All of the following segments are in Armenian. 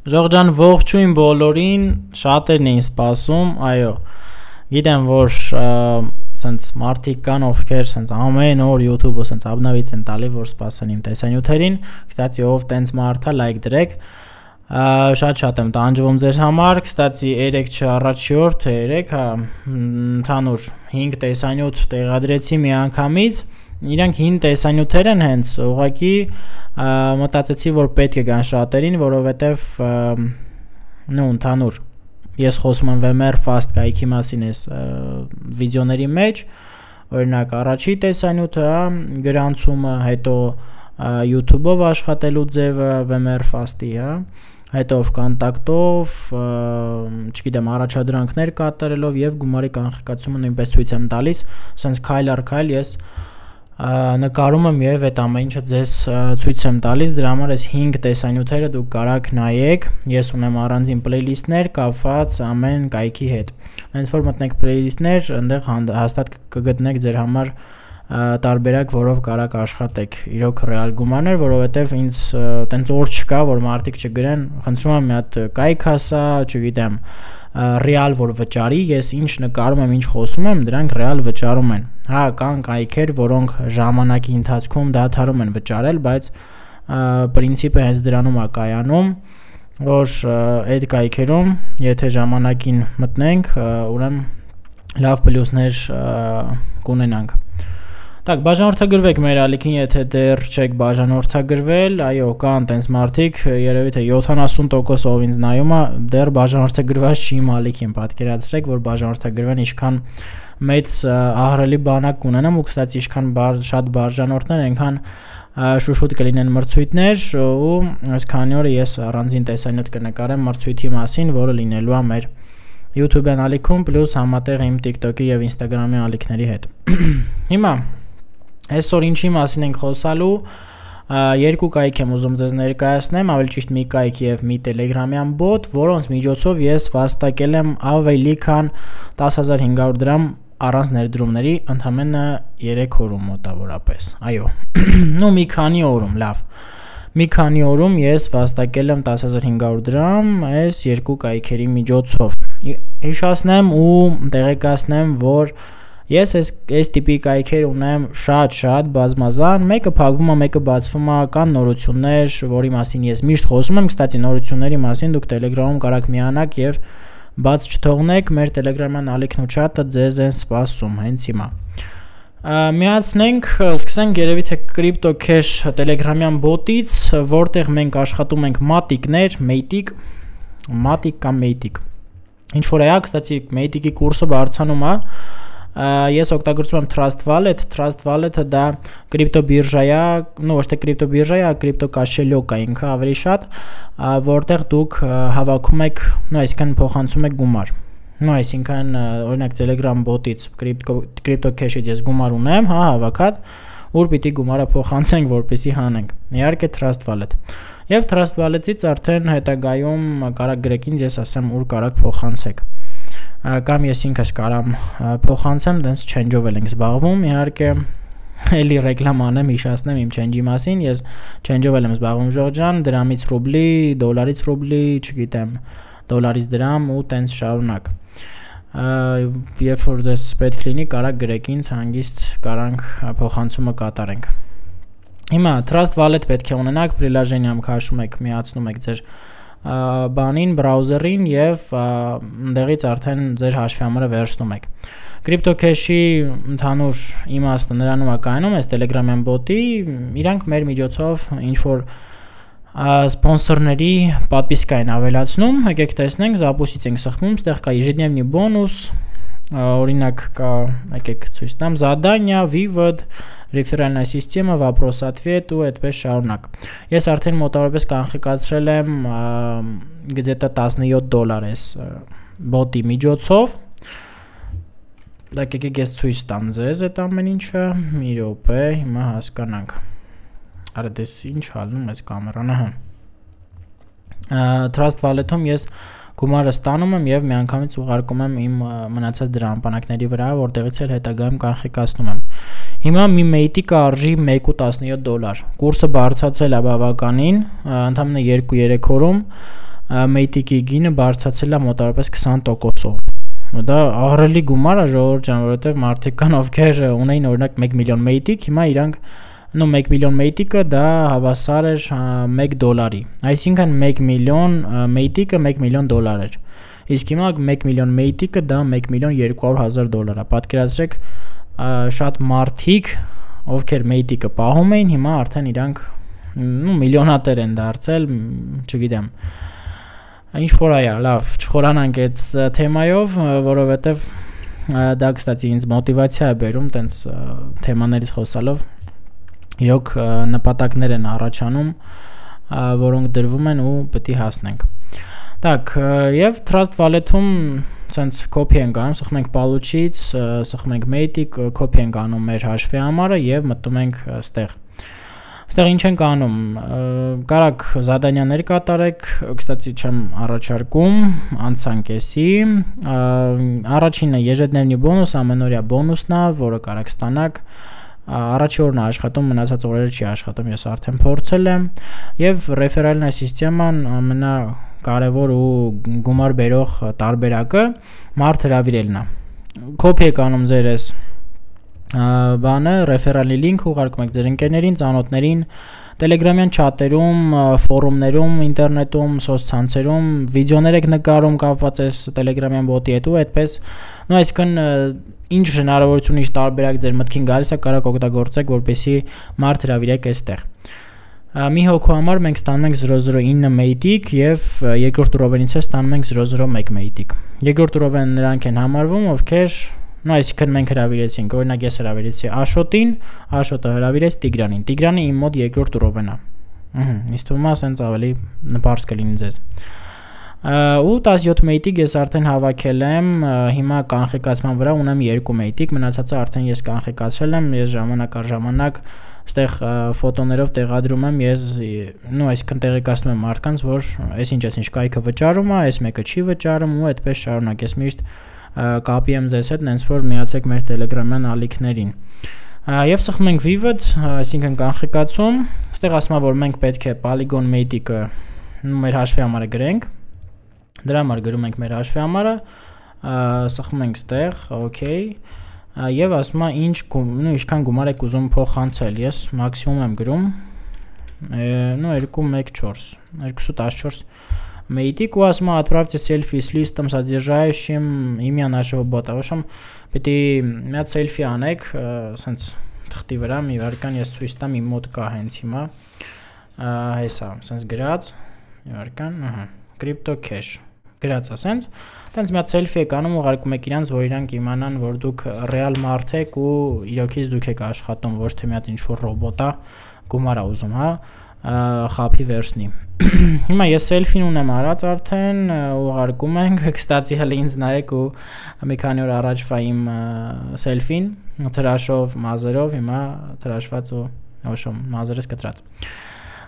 Ժողջան ողջույն բոլորին, շատերն էին սպասում, այո, գիտեմ, որ սենց մարդիկ կան, ովքեր սենց ամեն օր YouTube-ը սենց աբնավից են տալի, որ սպասեն իմ տեսանյութերին, կստացի ով տենց մարդա, լայք դրեք, շատ եմ տանջվում ձեր համար, կստացի 3 չառաջի օր, թե 3, ընդհանուր 5 տեսանյութ տեղադրեցի մի անգամից, իրանք 5 տեսանյութեր են հենց, ուղղակի մտածեցի, որ պետք է գան շատերին, որովհետև ընդհանուր ես խոսում եմ VMware Fast կայքի մասին այս վիդեոների մեջ, օրինակ առաջի տեսանյութը, գրանցումը, հետո YouTube-ով աշխատելու ձևը VMware Fast-ի, հետո կոնտակտով, չգիտեմ, առաջադրանքներ կատարելով եւ գումարի կանխիկացումը նույնպես ցույց եմ տալիս, ասենց քայլ առ քայլ ես նկարում եմ եւ այդ ամեն ինչը ձեզ ցույց եմ տալիս, դրա համար այս 5 տեսանյութերը դուք կարաք նայեք, ես ունեմ առանձին playlist-ներ կապված ամեն կայքի հետ։ Հենց որ մտնեք playlist-ներ, այնտեղ հաստատ կգտնեք ձեր համար տարբերակ, որով կարաք աշխատեք, իրոք ռեալ գումարներ, որովհետև ինձ տենց օր չկա, որ մարդիկ չգրեն, խնդրում եմ մի հատ կայք ասա, չգիտեմ, ռեալ որ վճարի, ես ինչ նկարում եմ, ինչ խոսում եմ, դրանք ռեալ վճարում են։ Հա, կան կայքեր, որոնք ժամանակի ընթացքում դադարում են վճարել, բայց պրինցիպը հենց դրանում է կայանում, որ այդ կայքերում, եթե ժամանակին մտնենք, ուրեմն լավ պլյուսներ կունենանք։ Так, բաժանորդագրվեք մեր ալիքին, եթե դեռ չեք բաժանորդագրվել, այո, կան տենց մարդիկ, երևի թե 70% ով ինձ նայում է, դեռ բաժանորդագրված չի իմ ալիքին, պատկերացրեք, որ բաժանորդագրվեն ինչքան մեծ ահռելի բանակ կունենամ, ու կստացի ինչքան շատ բաժանորդներ, այնքան շուշուտ կլինեն մրցույթներ, ու այսքանի օրը ես առանձին տեսանյութ կնկարեմ մրցույթի մասին, որը լինելու է մեր YouTube-յան ալիքում, պլյուս համատեղ իմ TikTok-ի եւ Instagram-ի ալիքների հետ։ Հիմա այսօր ինչի մասին ենք խոսալու, երկու կայք եմ ուզում ձեզ ներկայացնեմ, ավելի ճիշտ մի կայք եւ մի Telegram-յան bot, որոնց միջոցով ես վաստակել եմ ավելի քան 10500 դրամ առանց ներդրումների, ընդամենը 3 օրում մոտավորապես։ Այո։ Նու մի քանի օրում, լավ։ Մի քանի օրում ես վաստակել եմ 10500 դրամ այս երկու կայքերի միջոցով։ Հիշեցնեմ ու տեղեկացնեմ, որ ես այս տիպի կայքեր ունեմ շատ բազմազան, մեկը փակվում է, մեկը բացվում է, կան նորություններ, որի մասին ես միշտ խոսում եմ, կստացի նորությունների մասին դուք Telegram-ում կարաք միանաք եւ բաց չթողնեք, մեր Telegram-յան ալիքն ու chat-ը ձեզ են սպասում հենց հիմա։ Միացնենք, սկսենք երևի թե Crypto Cash Telegram-յան bot-ից, որտեղ մենք աշխատում ենք մատիկներ, մատիկ կամ մեյտիկ։ Ինչ որ է, կստացի մեյտիկի կուրսը բարձանում է, ես օգտագործում եմ Trust Wallet-ը դա կրիպտո բիրժա է, ոչ թե կրիպտո բիրժա է, կրիպտո կաշելյոկ է ինքը ավելի շատ, որտեղ դուք հավաքում եք, այսինքն փոխանցում եք գումար։ Այսինքն օրինակ Telegram bot-ից, Crypto Cash-ից ես գումար ունեմ, հա, հավաքած, ուր պիտի գումարը փոխանցենք, որպեսզի հանենք։ Իհարկե Trust Wallet։ Եվ Trust Wallet-ից արդեն հետագայում կարաք գրեք ինձ, ես ասեմ ուր կարաք փոխանցեք։ Կամ ես ինքս կարամ փոխանցեմ, դենց change-ով ենք զբաղվում, իհարկե էլի ռեկլամ անեմ, հիշացնեմ իմ change-ի մասին, ես change-ով եմ զբաղվում Ժողջան, դրամից ռուբլի, դոլարից ռուբլի, չգիտեմ, դոլարից դրամ ու տենց շարունակ։ Երբ որ ձեզ պետք լինի, կարաք գրեք ինձ, հանգիստ կարանք փոխանցումը կատարենք։ Հիմա Trust Wallet պետք է ունենաք, priложение-ում քաշում եք, միացնում եք ձեր բանին, բրաուզերին եւ ընդեղից արդեն ձեր հաշվի համարը վերցնում եք։ Crypto Cash-ի ընդհանուր իմաստը նրանում է կայանում, այս Telegram-յան bot-ի, իրանք մեր միջոցով ինչ որ սպոնսորների պատվիսկա են ավելացնում, եկեք տեսնենք, запустить ենք սխմում, ստեղ կա ежедневный бонус, օրինակ կա, եկեք ցույց տամ, задание, вывод, реферальная система, вопрос-ответ ու այդպես շարունակ։ Ես արդեն մոտավորապես կանխիկացրել եմ где-то $17 այս bot-ի միջոցով։ Դա եկեք ես ցույց տամ ձեզ այդ ամեն ինչը, մի րոպե, հիմա հասկանանք։ Արա դες ինչ ալնում ես կամերան, ահա։ Trust Wallet-ում ես գումարը ստանում եմ եւ միանգամից ուղարկում եմ իմ մնացած դրամապանակների վրա, որտեղից էլ հետագայում կանխիկացնում եմ։ Հիմա մի մեյտիկը արժի $1.17, կուրսը բարձրացել է բավականին, ընդամենը 2-3 օրում, Matic-ի գինը բարձրացել է մոտավորապես 20%-ով։ Դա ահռելի գումար է ժողովուրդ ջան, որովհետև մարդիկ կան ովքեր ունեին օրինակ 1 միլիոն Matic, հիմա իրանք 1 միլիոն Matic-ը դա հավասար էր $1, այսինքն 1 միլիոն Matic-ը $1 միլիոն էր, իսկ հիմա 1 միլիոն Matic-ը դա $1,200,000 է, պատկերացրեք շատ մարդիկ ովքեր Matic-ը պահում էին, հիմա արդեն իրանք միլիոնատեր են դարձել, չգիտեմ, ինչ որ այա, լավ, չխորանանք այդ թեմայով, որովհետև դա կստացի ինձ մոտիվացիա է բերում տենց թեմաներից խոսալով, իրոք նպատակներ են առաջանում, որոնք դրվում են ու պետք է հասնենք։ Так, եւ Trust Wallet-ում սենց copy ենք անում, սխում ենք Paluch-ից, սխում ենք Matic, copy ենք անում մեր հաշվի համարը եւ մտնում ենք այստեղ։ Այստեղ ինչ ենք անում, կարակ զադանյաներ կատարեք, կստացի չեմ առաջարկում, անցանք էսի, առաջինը ежедневный բոնուս, ամենօրյա բոնուսն է, որը կարակ ստանաք, առաջի օրն է աշխատում, մնացած օրերը չի աշխատում, ես արդեն փորձել եմ, եւ ռեֆերալնա սիստեման ամենակարևոր ու գումար բերող տարբերակը մարդ հրավիրելն է։ Copy եք անում ձեր էս բանը, ռեֆերալի լինք ուղարկում եք ձեր ընկերներին, ծանոթներին, Telegram-յան չաթերում, ֆորումներում, ինտերնետում, սոցցանցերում, վիդեոներ եք նկարում կապված այս Telegram-յան բոտի հետ ու այդպես, այսինքն ինչ հնարավորություն ինչ տարբերակ ձեր մտքին գալիս է, կարաք օգտագործեք, որպեսզի մարդ հրավիրեք այստեղ։ Մի հոգու համար մենք ստանում ենք 009 Matic եւ երկրորդ ուրովենից է ստանում ենք 001 Matic։ Երկրորդ ուրովենը նրանք են համարվում, ովքեր այսինքն մենք հրավիրեցինք, օրինակ ես հրավիրեցի Աշոտին, Աշոտը հրավիրեց Տիգրանին, Տիգրանը իմ մոտ երկրորդ ուրովեն է։ Ինձ թվում է ասենց ավելի նպարս կլինի ձեզ։ Ու 17 Matic ես արդեն հավաքել եմ, հիմա կանխիկացման վրա ունեմ 2 Matic, մնացածը արդեն ես կանխիկացրել եմ, ես ժամանակ առ ժամանակ այստեղ ֆոտոներով տեղադրում եմ, ես այսինքն տեղեկացնում եմ մարդկանց, որ այսինչ կայքը վճարում է, այս մեկը չի վճարում ու այդպես շարունակ ես միշտ կապի եմ ձեզ հետ, նենց որ միացեք մեր Telegram-յան ալիքներին։ Եվ սխում ենք Vivid, այսինքն կանխիկացում, այստեղ ասում է, որ մենք պետք է Polygon Matic-ը մեր հաշվի համարը գրենք, դրա համար գրում ենք մեր հաշվի համարը, սխում ենք այստեղ, okay, եւ ասում է ինչքան գումար եք ուզում փոխանցել, ես մաքսիմում եմ գրում, 214 Matic ու ասում է отправьте селфи с листом содержащим имя нашего бота, в общем, պետք է մի հատ selfie անեք, սենց թղթի վրա, մի վարքան ես ցույց տամ, իմ մոտ կա հենց հիմա, հեսա, սենց գրած, մի վարքան, crypto cash, գրած է սենց, տենց մի հատ selfie եք անում, ուղարկում եք իրանց, որ իրանք իմանան, որ դուք ռեալ մարդ եք ու իրոքից դուք եք աշխատում, ոչ թե մի հատ ինչ-որ ռոբոտ է, գումար է ուզում, հա, խափի վերցնի։ Հիմա ես selfie-ն ունեմ արած արդեն, ուղարկում ենք, կստացի հələ ինձ նայեք ու մի քանի օր առաջվա իմ selfie-ն, թրաշով, մազերով, հիմա թրաշված ու մազերս կտրած։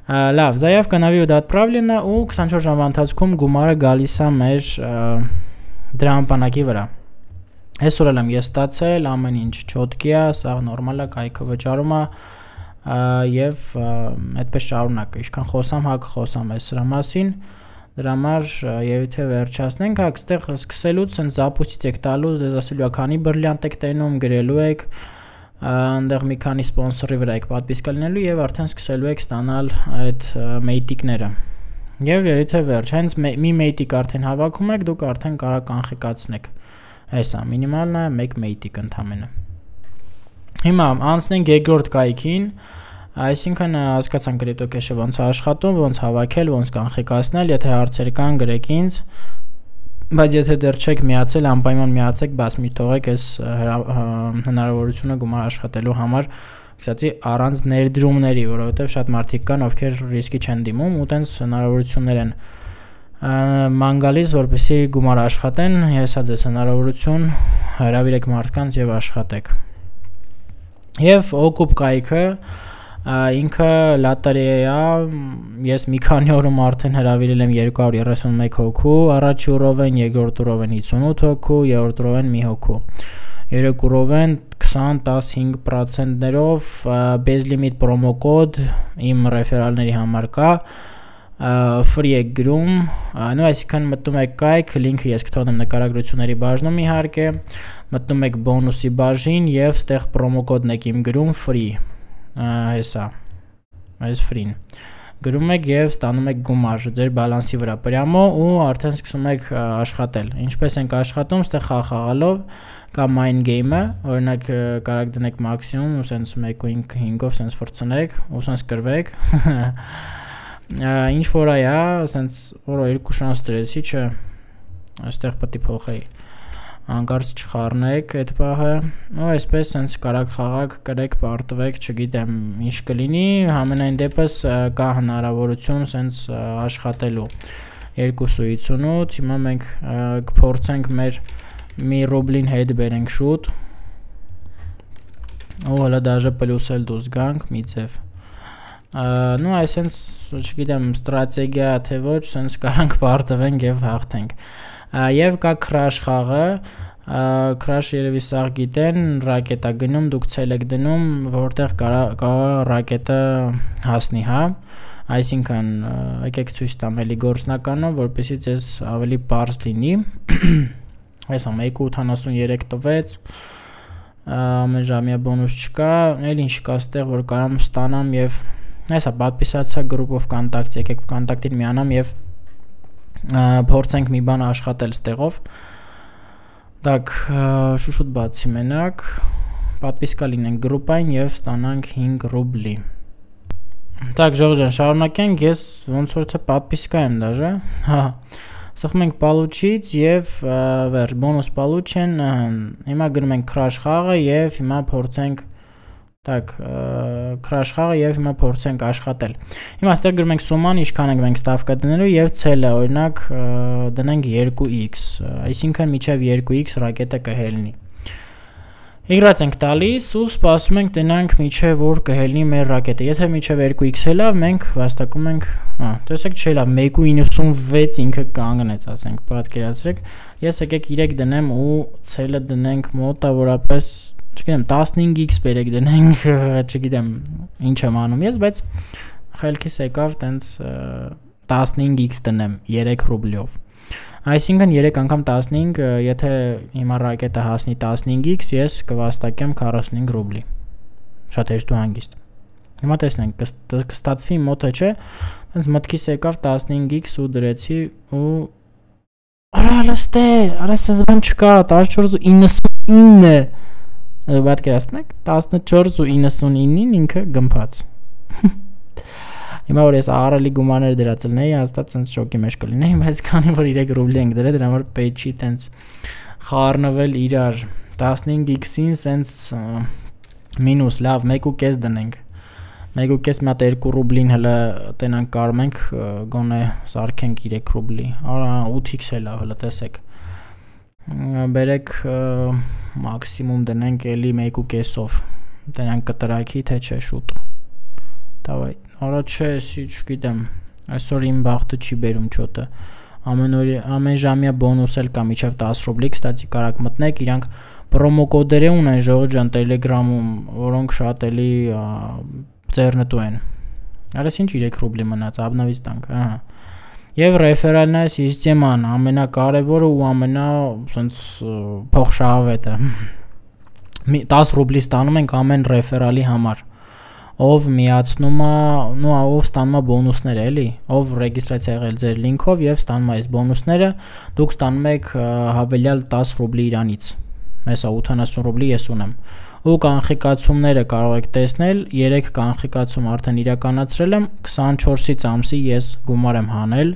Լավ, заявка на вывод отправлена ու 24 ժամվա ընթացքում գումարը գալիս է մեր դրամապանակի վրա։ Այսօր եմ ես ստացել, ամեն ինչ չոտքի է, սա նորմալ է, կայքը վճարում է եւ այդպես շարունակ, ինչքան խոսամ, հա կխոսամ այս սրա մասին, դրա համար եւ թե վերջացնենք, հա այստեղ սկսելուց ցենց զապուստից եք տալու, դες ասելու է քանի բրլյանտ եք տենում, գրելու եք, այնտեղ մի քանի սպոնսորի վրա եք պատվիսկա լինելու եւ արդեն սկսելու եք ստանալ այդ Matic-ները։ Եվ երբ վերջ, հենց մի Matic արդեն հավաքում եք, դուք արդեն կարող կանխիկացնեք։ Հեսա, մինիմալն է 1 Matic ընդամենը։ Հիմա անցնենք երկրորդ կայքին, այսինքն հասկացանք crypto cash-ը ոնց է աշխատում, ոնց հավաքել, ոնց կանխիկացնել, եթե հարցեր կան գրեք ինձ, բայց եթե դեռ չեք միացել, անպայման միացեք, բաց մի թողեք այս հնարավորությունը գումար աշխատելու համար, ասացի առանց ներդրումների, որովհետև շատ մարդիկ կան, ովքեր ռիսկի չեն դիմում ու տենց հնարավորություններ են ման գալիս, որպեսզի գումար աշխատեն, հեսա ձեզ հնարավորություն, հրավիրեք մարդկանց եւ աշխատեք։ Եվ օկուպ կայքը ինքը լատարիա է, ես մի քանի օրում արդեն հրավիրել եմ 231 հոգու, առաջի ուրովեն, երկրորդ ուրովեն 58 հոգու, երրորդ ուրովեն մի հոգու, երեք ուրովեն 20-15%-ներով, bez limit promo կոդ իմ ռեֆերալների համար կա, free եք գրում, նո այսինքն մտնում եք կայք, լինքը ես կթողնեմ նկարագրությունների բաժնում իհարկե, մտնում եք բոնուսի բաժին եւ ստեղ պրոմո կոդն եք իմ գրում free, հեսա, այս free-ն, գրում եք եւ ստանում եք գումար ձեր բալանսի վրա պրյամո ու արդեն սկսում եք աշխատել, ինչպես ենք աշխատում, ստեղ խաղալով կամ mind game-ը, օրինակ կարաք դնեք մաքսիմում ու սենց 1.5-ով սենց վրցնեք, ու սենց կրվեք, ինչ որ այա, սենց որո 2 շանս դրեցի, չէ, այստեղ պետք է փոխեի, անկարծ չխառնեք այդ պահը, ու այսպես սենց կարաք խաղակ, կրեք, պարտվեք, չգիտեմ, ինչ կլինի, համենայն դեպս կա հնարավորություն սենց աշխատելու 2.58, հիմա մենք կփորձենք մեր մի ռուբլին հետ բերենք շուտ, ու հլա դաժը պլյուսել դուզ գանք, մի ձև, նու այսենց, չգիտեմ, ստրատեգիա թե ոչ, սենց կարանք պարտվենք և հաղթենք, և կա քրաշ խաղը, քրաշ երևի սաղ գիտեն, ռակետա գնում, դուք ցել եք դնում, որտեղ կա ռակետը հասնի, հա, այսինքն եկեք ցույց տամ էլի գործնականով, որպեսզի ձեզ ավելի պարզ լինի, այսա 1.83 տվեց, ամեն ժամյա բոնուս չկա, էլ ինչ կա ստեղ, որ կարամ ստանամ և այսա պատպիսացա գրուպով կոնտակտ, եկեք կոնտակտին միանամ և փորձենք մի բան աշխատել ստեղով, դակ շուշուտ բացի մենակ, պատպիսկա լինենք գրուպային և ստանանք 5 ռուբլի, դակ ժողջան շարունակենք, ես ոնց որ թե պատպիսկա եմ դաժը, սխում ենք պալուչից և վերջ, բոնուս պալուչ են, հիմա գրում ենք քրաշ խաղը և հիմա փորձենք քրաշ խաղը և հիմա փորձենք աշխատել, հիմա ստեղ գրում ենք սուման, ինչքան ենք մենք ստավկա դնելու և ցելը, օրինակ դնենք 2x, այսինքն միջև 2x ռակետը կհելնի, իգրած ենք տալիս ու սպասում ենք տնանք միջև որ կհելնի մեր ռակետը, եթե միջև 2x հելավ, մենք վաստակում ենք, տեսեք չելավ, 1.96 ինքը կանգնեց, ասենք, պատկերացրեք, ես եկեք 3 դնեմ ու ցելը դնենք մոտավորապես չգիտեմ 15x բերեք դնենք, չգիտեմ ինչ եմ անում ես, բայց խելքիս եկավ տենց 15x դնեմ 3 ռուբլիով, այսինքն 3 անգամ 15, եթե հիմա ռակետը հասնի 15x, ես կվաստակեմ 45 ռուբլի, շատ հեշտ ու հանգիստ, հիմա տեսնենք, կստացվի մոտը չէ, տենց մտքիս եկավ 15x ու դրեցի ու արա լստե, արա սզբան չկա, 14.99 պատկերացնեք 14.99-ին ինքը գմփած հիմա որ ես աղարելի գումաներ դրածլնեի հաստատ սենց շոկի մեջ կլինեի բայց քանի որ 3 ռուբլի ենք դրել դրա համար պետք չի տենց խառնվել իրար 15x-ին սենց մինուս լավ 1.5 դնենք 1.5 մատ 2 ռուբլին հլը տենանք կարում ենք գոնե սարքենք 3 ռուբլի արա 8x է լավ հլը տեսեք բերեք մաքսիմում դնենք էլի 1.5-ով դրանք կտրակի թե չէ շուտ դավայ արա չէ չգիտեմ այսօր իմ բախտը չի բերում չոտը ամեն ժամյա բոնուս էլ կա միջև 10 ռուբլի կստացի կարակ մտնեք իրանք պրոմո կոդեր ունեն ժողջան տելեգրամում որոնք շատ էլի ձեռնտու են արես ինչ 3 ռուբլի մնաց աբնավից տանք ահա Եվ ռեֆերալնա սիստեման ամենակարևորը ու ամենա փոխշահավետը 10 ռուբլի ստանում ենք ամեն ռեֆերալի համար ով միացնում է ով ստանում է բոնուսներ էլի ով ռեգիստրացիա եղել ձեր լինքով եւ ստանում է այս բոնուսները դուք ստանում եք հավելյալ 10 ռուբլի իրանից հեսա 80 ռուբլի ես ունեմ ու կանխիկացումները կարող եք տեսնել 3 կանխիկացում արդեն իրականացրել եմ 24-ից ամսի ես գումար եմ հանել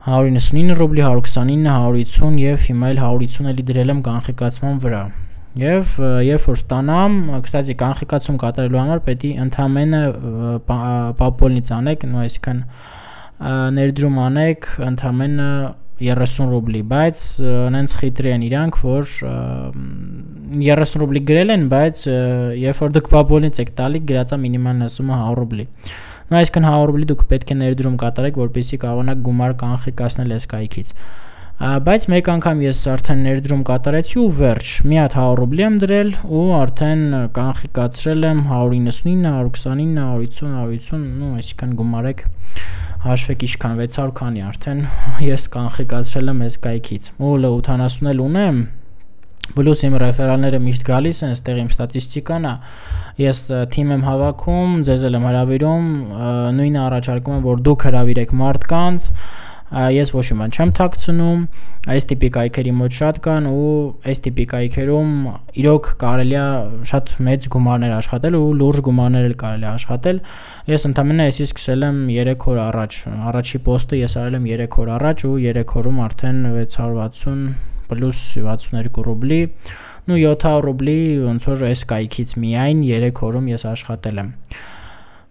199 ռուբլի 129 150 եւ հիմա էլ 150 էլի դրել եմ կանխիկացման վրա եւ երբ որ ստանամ կստացի կանխիկացում կատարելու համար պետք է ընդամենը պապոլնից անեք նո այսքան ներդրում անեք ընդամենը 30 ռուբլի, բայց նենց խիտրի են իրանք, որ 30 ռուբլի գրել են, բայց երբ որ դուք պապոլնից եք տալի, գրածա մինիմալն ասումը 100 ռուբլի։ Նո այսքան 100 ռուբլի դուք պետք է ներդրում կատարեք, որպեսզի կարողանաք գումար կանխիկացնել այս կայքից։ Բայց մեկ անգամ ես արդեն ներդրում կատարեցի ու վերջ, մի հատ 100 ռուբլի եմ դրել ու արդեն կանխիկացրել եմ 199, 129, 150, ну, այսինքն գումարեք հաշվեք ինչքան 600 քանի արդեն ես կանխիկացրել եմ այս կայքից։ Ու 80 էլ ունեմ, պլյուս իմ ռեֆերալները միշտ գալիս են, այստեղ իմ ստատիստիկան է, ես թիմ եմ հավաքում, ձեզ եմ հրավիրում, նույնը առաջարկում եմ, որ դուք հրավիրեք մարդկանց, ես ոչ մի բան չեմ թաքցնում, այս տիպի կայքերի մոտ շատ կան ու այս տիպի կայքերում իրոք կարելի է շատ մեծ գումարներ աշխատել ու լուրջ գումարներ էլ կարելի է աշխատել։ Ես ընդամենը այսի սկսել եմ 3 օր առաջ, առաջի պոստը ես արել եմ 3 օր առաջ ու 3 օրում արդեն 660 պլյուս 62 ռուբլի, ну 700 ռուբլի ոնց որ այս կայքից միայն 3 օրում ես աշխատել եմ։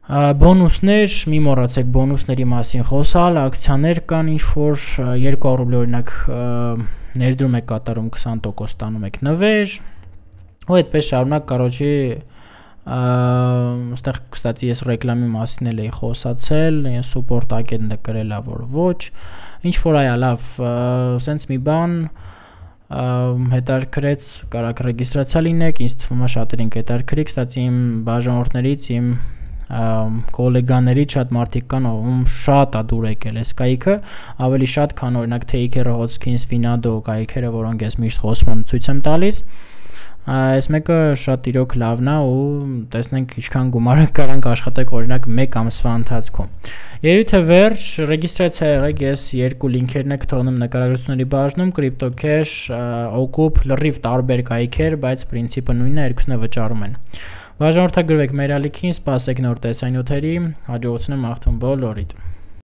Բոնուսներ, մի մոռացեք բոնուսների մասին խոսալ, ակցիաներ կան, ինչ որ 200 ռուբլի օրինակ ներդրում եք կատարում 20% ստանում եք նվեր, ու այդպես շարունակ, короче, այստեղ կստացի ես ռեկլամի մասին էլ էի խոսացել, ես support agent-ը գրել ա որ ոչ, ինչ որ այա լավ, սենց մի բան հետարքրեց, կարաք ռեգիստրացիա լինեք, ինձ թվում է շատերին կհետարքրի, կստացի իմ բաժանորդներից, իմ կոլեգաներից շատ մարդիկ կան, ում շատ է դուր եկել այս կայքը, ավելի շատ քան օրինակ Taker-ը, Hotkins, Finado կայքերը, որոնք ես միշտ խոսում եմ, ցույց եմ տալիս, այս մեկը շատ իրոք լավն է ու տեսնենք ինչքան գումար կարանք աշխատեք օրինակ 1 ամսվա ընթացքում։ Երբ թե վերջ ռեգիստրացիա եղեք, ես 2 լինքերն եք թողնում նկարագրությունների բաժնում, CryptoCash, Okup, լրիվ տարբեր կայքեր, բայց պրինցիպը նույնն է, երկուսն է վճարում են։ Բաժանորդագրվեք մեր ալիքին, սպասեք նոր տեսանյութերի, հաջողություն եմ աղթում բոլորիդ։